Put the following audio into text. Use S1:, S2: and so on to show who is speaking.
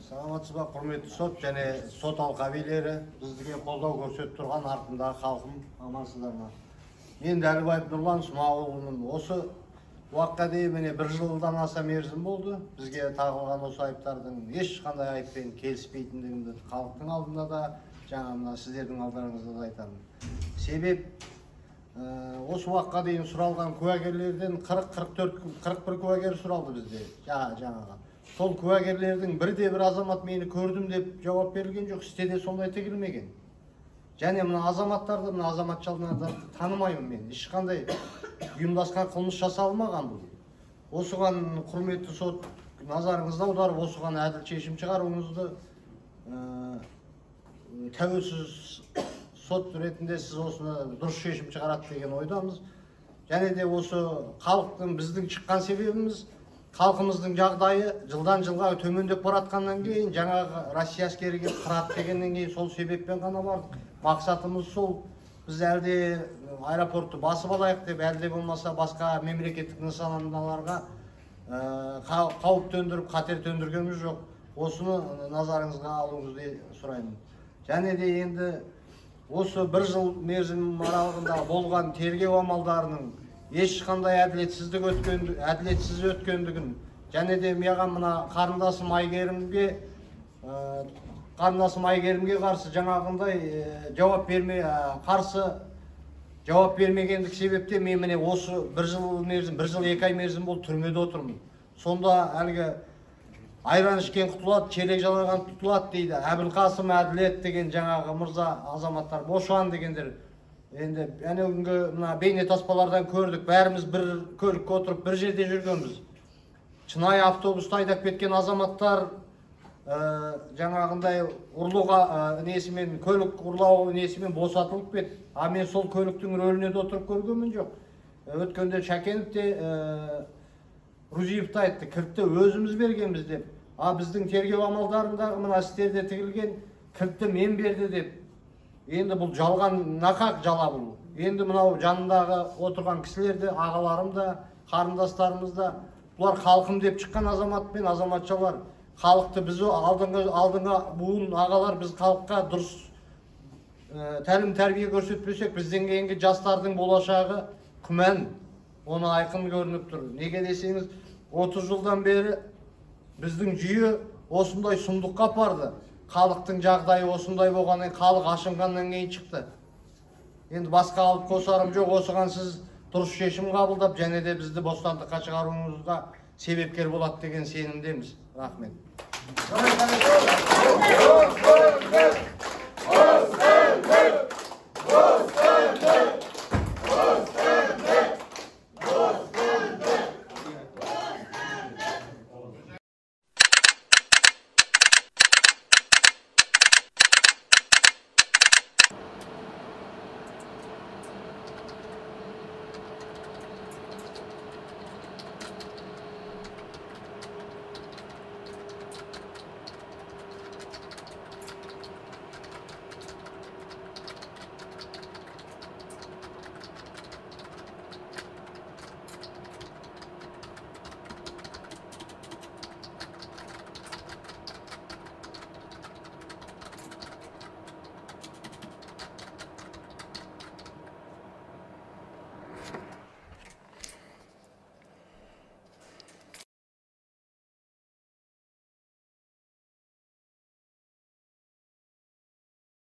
S1: Саламатсызбы, құрметті сот және сот алқабилері, бізге қолдау көрсетіп тұрған артындағы халқым, амансыздарма. Мен Дәлібаев Нұрлан Смағұлұлымын. Осы уақытқа дейін міне 1 жылдан аса мерзім болды. Бізге тағылған осы айыптардың ешқандай айыппен келіспейтіндігімді халықтың алдында да, жаңа мына сіздердің алдарыңызда да айтамын. Себеп осы уақытқа дейін сұралған куәгерлерден 40-41 куәгер сұралды бізде. Жаңаға. Сол куәгерлердің бірде-бір азамат мені көрдім деп жауап берілген жоқ, істеде сондай тегілмеген. Және мына азаматтарды, мына азаматшыларды танымаймын мен. Ешқандай ұйымдасқан қылмыс жасалмаған бұл. Осыған құрметті сот назарыңызды аударып, осыған әділ шешім шығаруыңызды, тәуелсіз сот ретінде сіз осыны дұрыс шешім шығарады деген ойдамыз. Және де осы халықтың біздің шыққан себебіміз халқымыздың жағдайы жылдан жылға төмендеп баратқаннан кейін, жаңағы Россия әскері келіп қырады дегеннен кейін сол себеппен ғана бардық. Мақсатымыз сол, біз әлде аэропортты басып алайық деп, әлде болмаса басқа мемлекеттік нысаналарға қауіп төндіріп, қатер төндіргеніміз жоқ. Осыны назарыңызға алуыңызды сұраймын. Және де енді осы 1 жыл мерзім аралығында болған тергеу амалдарының ешқандай әділетсіз өткендігін, және де маған мына қарындасым Айгерімге қарсы жаңағындай жауап бермегендік себепте мен міне осы 1 жыл 2 ай мерзім болып түрмеде отырмын. Сонда әлгі айран ішкен құтылады, челек жалаған тұтылады дейді. Әбілқасым Әділет деген жаңағы мырза азаматтар бошан дегендер. Енді күнгі бейне таспалардан көрдік, бәріміз бір көлікке отырып бір жерде жүргенбіз. Шынайы автобуста айдап кеткен азаматтар жаңағындай көлік ұрлау несімен босатылып кетті. А мен сол көліктің рөліне де отырып көргенмін жоқ. Өткенде Шәкенов те Рузиевті айтты, кілтті өзіміз бергенбіз деп. А біздің тергеу амалдарындағы мына істерде тігілген кілтті мен берді деп. Енді бұл жалған, нақақ жала бұл. Енді мынау жанындағы отырған кісілерді, ағаларым да, қарындастарымыз да, бұлар халқым деп шыққан азамат пен азаматшалар. Халықты біз алдыңға буын ағалар, біз халыққа дұрыс тәлім тәрбие көрсетпесек, бізден кейінгі жастардың болашағы күмән, оны айқын көрініп тұр. Неге десеңіз, 30 жылдан бері біздің жүйе осындай сұмдыққа апарды. Халықтың жағдайы осындай болғаннан, халық ашынғаннан кейін шықты. Енді басқа алып қосарым жоқ, осыған сіз дұрыс шешім қабылдап, және де бізді бостандыққа шығаруыңызға себепкер болады деген сенімдеміз. Рахмет.